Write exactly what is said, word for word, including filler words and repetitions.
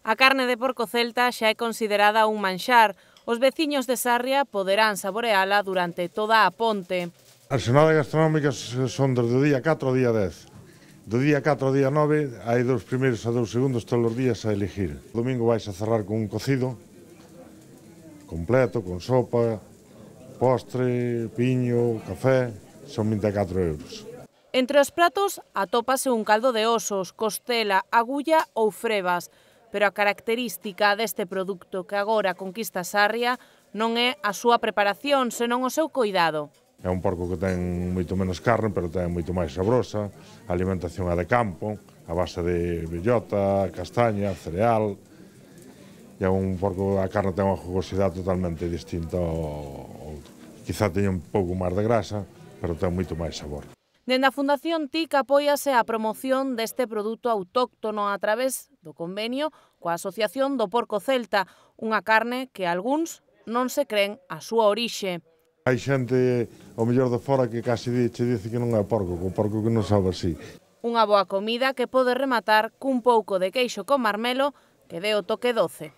A carne de porco celta xa é considerada un manxar. Os veciños de Sarria poderán saboreala durante toda a ponte. As xornadas gastronómicas son desde o día catro ao día dez. Do día catro ao día nove hai dos primeiros e dos segundos todos os días a elegir. O domingo vais a cerrar con un cocido completo, con sopa, postre, piño, café, son vinte e catro euros. Entre os pratos atópase un caldo de osos, costela, agulla ou frevas, pero a característica deste produto que agora conquista Sarria non é a súa preparación, senón o seu coidado. É un porco que ten moito menos carne, pero ten moito máis sabrosa, a alimentación é de campo, a base de bellota, castaña, cereal, e é un porco, a carne ten unha jugosidade totalmente distinta ao outro. Quizá teña un pouco máis de grasa, pero ten moito máis sabor. Dende a Fundación T I C apóiase a promoción deste produto autóctono a través do convenio coa Asociación do Porco Celta, unha carne que algúns non se creen a súa orixe. Hai xente, ao mellor de fora, que casi che dice que non é porco, que o porco que non sabe así. Unha boa comida que pode rematar cun pouco de queixo con marmelo que dé o toque doce.